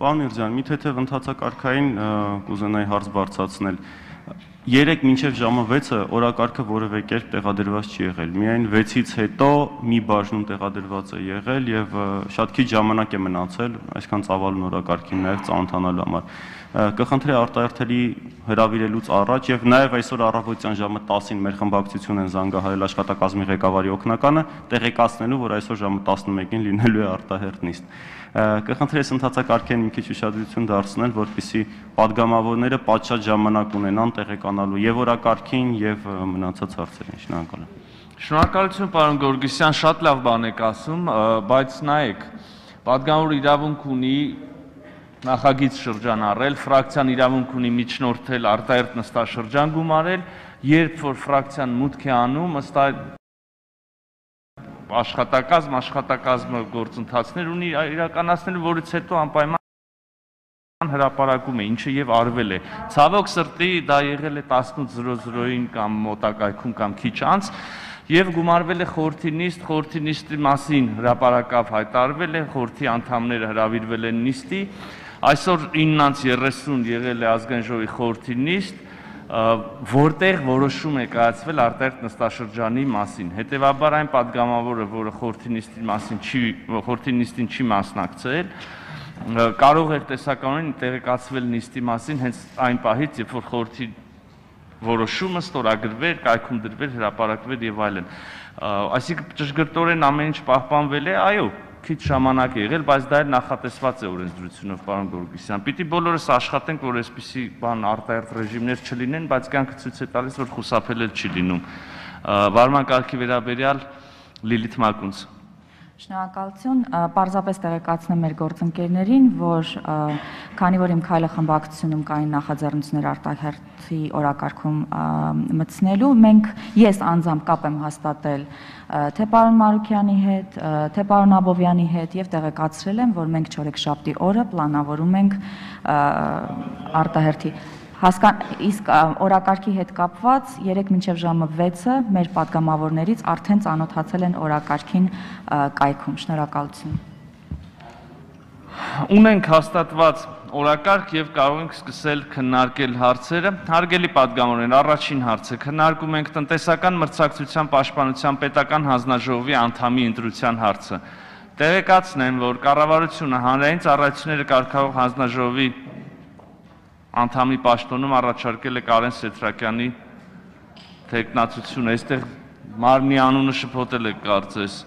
Պարոն Միրզյան, մի թեթև ընթացակարգային կուզենայի հարց բարձրացնել։ 3 մինչև ժամը 6-ը օրակարգը որևէ կերպ տեղադրված չի եղել։ Միայն 6-ից հետո մի բաժնում տեղադրված է եղել եւ շատ քիչ ժամանակ է մնացել, այսքան ծավալուն օրակարգին նաեւ ծանոթանալու համար։ Կխնդրեի արտահերթելի հրավիրելուց առաջ եւ նաեւ այսօր առավոտյան ժամը 10-ին մեր խմբակցություն են զանգահարել աշխատակազմի ղեկավարի օգնականը տեղեկացնելու, որ այսօր ժամը 11-ին լինելու է արտահերթ նիստ։ Կխնդրեի ընթացակարգին մի քիչ ուշադրություն դարձնել, որպեսզի падգամավորները պատշաճ ժամանակ ունենան տեղեկանալու եւ օրակարգին եւ մնացած հարցերին։ Շնորհակալ եմ։ Շնորհակալություն, պարոն Գորգիսյան, շատ լավ բան եք ասում, բայց նայեք, падգամավորը իրավունք ունի նախագիծ շրջանառել, ֆրակցիան իրավունք ունի միջնորդել արտահերթ նստաշրջան գումարել, երբ որ ֆրակցիան մուտք է անում, ըստ աշխատակազմը գործընթացներ ունի իրականացնելու, որից հետո անպայման հրապարակում է, ինչը եւ արվել է։ Ցավոք սրտի դա եղել է 18:00-ին կամ մոտակայքում կամ քիչ անց եւ գումարվել է խորհրդի նիստի մասին հրապարակավ հայտարարվել է, խորհրդի անդամները հրավիրվել են նիստի։ Այսօր 9:30 եղել է ազգային ժողովի խորհրդի նիստ, որտեղ որոշում է կայացվել արտահերթ նստաշրջանի մասին։ Հետևաբար այն падգամավորը, որը խորհրդի նիստին չի մասնակցել, կարող էր տեսականորեն տեղեկացվել նիստի մասին հենց այն պահից, երբ որ խորհրդի որոշումը ստորագրվեր, կայքում դրվեր, հրապարակվեր եւ այլն։ Այսինքն ճշգրտորեն ամեն ինչ պահպանվել է, այո, քիչ ժամանակ է եղել, բայց դա էլ նախատեսված է օրենսդրությունով, պարոն Գորգիսյան։ Պիտի բոլորս աշխատենք, որ այսպիսի բան արտահերթ ռեժիմներ չլինեն, բայց կյանքը ցույց է տալիս, որ խուսափել չի լինում։ Վարման կարգի վերաբերյալ Լիլիթ Մակունց։ Շնորհակալություն, պարզապես տեղեկացնեմ մեր գործընկերներին, որ քանի որ իմ քայլը խմբակցությունում կային նախաձեռնություններ արտահերթի օրակարգում մտցնելու, ես անձամբ կապ եմ հաստատել թե պարոն Մարուքյանի հետ, թե պարոն Աբովյանի հետ եւ տեղեկացրել եմ, որ մենք չորեքշաբթի օրը պլանավորում ենք արտահերթի իսկ օրակարգի հետ կապված 3 մինչև ժամը 6-ը մեր падգամավորներից արդեն ծանոթացել են օրակարգին կայքում։ Շնորհակալություն։ Ունենք հաստատված օրակարգ եւ կարող ենք սկսել քննարկել հարցերը։ Հարգելի падգամավորներ, առաջին հարցը քննարկում ենք տնտեսական մրցակցության պաշտպանության պետական հանձնաժողովի անդամի ընտրության հարցը։ Տեղեկացնեմ, որ կառավարությունը հանրային ծառայությունները կարգավորող հանձնաժողովի անդամի պաշտոնում առաջարկել է Կարեն Սեթրակյանի թեկնածությունը, այստեղ մարմնի անունը շփոթել է կարծես։